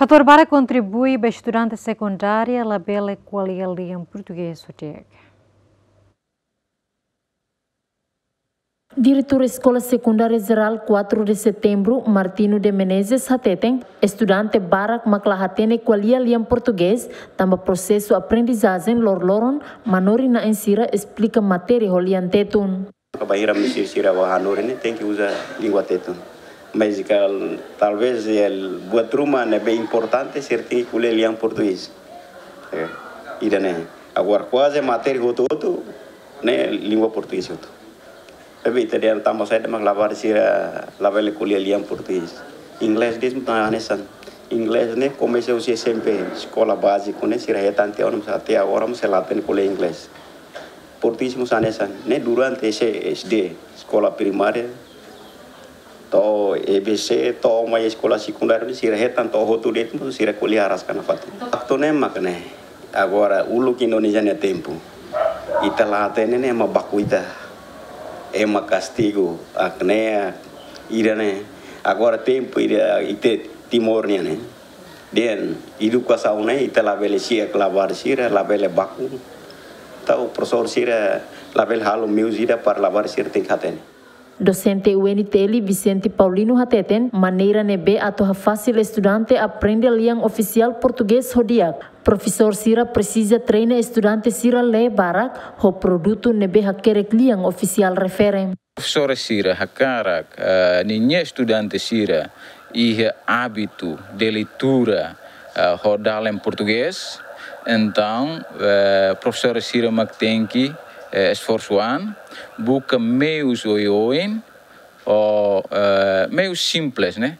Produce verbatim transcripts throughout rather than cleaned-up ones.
Fatór barak kontribui ba estudante sekundária labele ko'alia lian portugés ho di'ak. Diretór Eskola Sekundária Jerál quatro de Setembro, Martino de Menezes, hateten, estudante barak mak la hatene ko'alia lian portugés, tanba prosesu aprendizajen loroloron, manorin-na'in sira esplika matéria ho lian Tetun. Bainhira misir sira ba hanorin ne'e tenke uza lingua Tetun. Mas kal-, talvez el buat ruma ne'ebé importante sira tenke ko'alia lian portugés. Eh, ida-ne'e. Agora kuaze matéria hotu-hotu ne'e lingua portugés hotu. Maibé ita dehan tanba saida mak labarik sira labele ko'alia lian portugés. Inglés de'it mós hanesan. Inglés ne'e komesa husi S M P, eskola báziku ne'e sira hetan tiha ona, mas até agora mós sira la hatene ko'alia inglés. Portugés mós hanesan, ne'e durante S D, eskola primária, to'o E B C, to'o mai eskola sekundária, sira hetan to'o hotu de'it, sira ko'alia araska nafatin. Faktu ne'e mak ne'e. Agora, uluk Indonézia nia tempu, ita la hatene ne'e ema baku ita, ema kastigu, ak ne'e, ida-ne'e. Agora tempu ida ita Timor nian ne'e. Dehan edukasaun ne'e ita labele si'ak labarik sira, labele baku. Entaun profesór sira labele halo meius ida para labarik sira tenke hatene. Dosente U N T L Vicente Paulino hateten, maneira ne'ebé atu hafasil estudante aprende lian ofisiál portugés ho di'ak. Profesór sira presiza treina estudante sira lee barak ho produtu ne'ebé hakerek lian ofisiál refere. Profesór sira hakarak, eh, ninia estudante sira iha ábitu de leitura, eh, ho dalan portugés. Entaun, eh, profesór sira mak tenke, eh, esforsu an, buka meius oioin, ou, eh, meius simples, ne'e?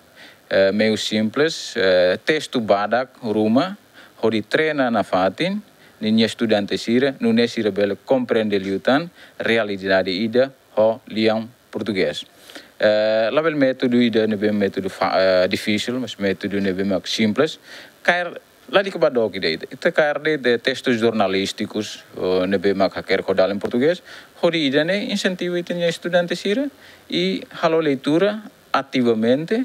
Eh, meius simples, eh, testu badak ruma, hodi treina nafatin ninia estudante sira, nune'e sira bele komprende liután realidade ida ho lian portugés. Eh, labele métodu ida ne'ebé métodu fa-, eh, difisil, mas métodu ne'ebé mak simples. Kaer, ladika ba dook ida, ita, ita kaer de'it testus jornalístikus, eh, ne'ebé mak hakerek ho dalan portugés, hodi ida-ne'e insentivu ita-nia estudante sira, i halo leitura ativamente,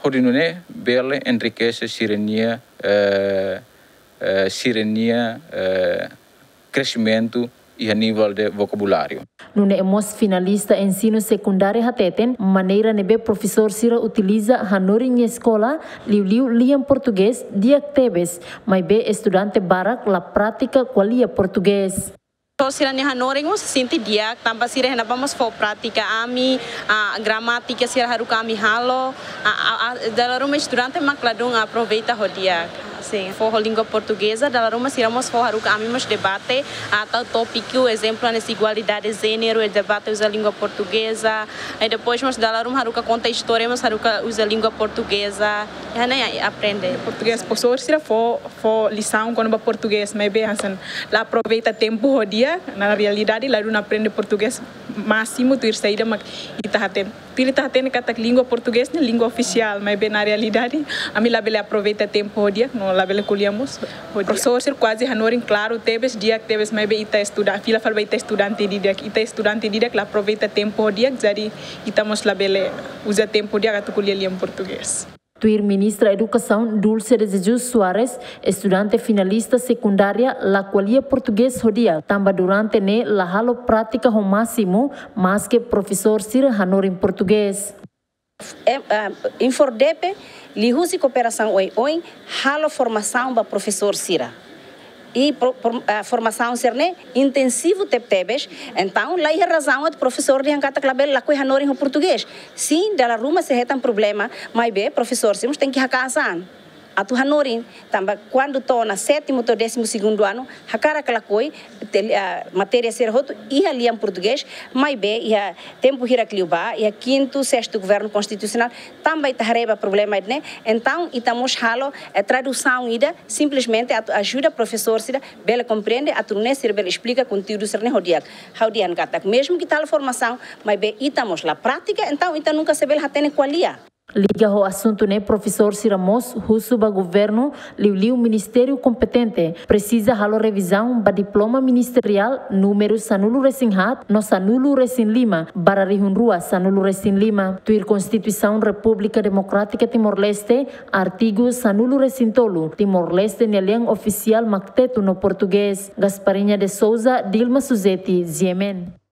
hodi nune'e bele enrikese sira-nia, eh, eh, sira-nia, eh, kresimentu iha nivel de vokabuláriu. Nune'e mós finalista ensinu sekundária hateten, maneira ne'ebé profesór sira utiliza hanorin iha eskola, liuliu lian portugés, di'ak tebes, maibé estudante barak la pratika ko'alia portugés. Profesór sira-nia hanorin mós sente di'ak, tanba sira iha ne'ebá mós fó prátika ami, ah, gramátika sira haruka ami halo, ah, ah, ah, dala ruma estudante mak ladún aproveita ho di'ak. Sin, fó ho língua portugeza, dala ruma sira mós fó haruka ami mós debate, ah, tau tópiku, ezemplu, hanesan igualdade de jéneru, e debate uza língua portugeza, i depois mós dala ruma haruka konta istória, mós haruka uza língua portugeza, i hanesan aprende. Portugés, profesór sira fó, fó lisaun kona-ba portugés, maibé hanesan la aproveita tempu ho di'ak, na realidade, ladún aprende portugés másimu, tuir saida mak ita hatene. Tuir ita hatene katak língua portugés ne'e língua ofisiál, maibé na realidade, ami labele aproveita tempu ho di'ak, no labele ko'alia mós ho di'ak. Profesór sira kuaze hanorin klaru tebes, di'ak tebes, maibé ita estuda-, fila fali ba ita estudante di'ak, ita estudante di'ak la aproveita tempu ho di'ak, jadi ita mós labele uza tempu di'ak atu ko'alia lian portugés. Tuir Ministra Edukasaun Dulce de Jesus Soares, estudante finalista sekundária la ko'alia portugés ho di'ak, tanba durante ne'e la halo prátika ho másimu, maske profesór sira hanorin portugés. Em, ah, INFORDEPE, liuhusi kooperasaun oioin, halo formasaun ba profesór sira. I pro-, pro-, ah, formasaun sira-ne'e intensivu tebetebes, entaun la iha razaun atu profesór dehan katak labele lakohi hanorin ho portugés. Sin, dala ruma sira hetan problema, maibé profesór sira mós tenke haka'as an atu hanorin, tanba kuandu to'o ona sétimu to'o désimu segundu anu, hakarak ka lakohi, te-, ah, matéria sira hotu iha lian portugés, maibé iha tempu hirak liubá, iha kintu, sestu governu konstitusionál, tanba ita haree ba problema ida-ne'e, entaun ita mós halo, eh, tradusaun ida, simplesmente atu ajuda profesór sira bele komprende, atu nune'e sira bele esplika konteúdu sira-ne'e ho di'ak. Ha'u dehan katak, mezmu ke ita halo formasaun, maibé ita mós la pratika, entaun ita nunka sei bele hatene ko'alia. Liga ho asuntu ne'e, profesór sira mós husu ba governu, liuliu ministériu kompetente, presiza halo revizaun ba diploma ministeriál númeru sanulu-resin-haat no sanulu-resin-lima barra rihun rua sanulu-resin-lima, tuir Konstituisaun Repúblika Demokrátika Timor-Leste, artigu sanulu-resin-tolu, Timor-Leste nia lian ofisiál mak Tetun no Portugés. Gasparinha de Souza, Dilma Suzeti, G M N.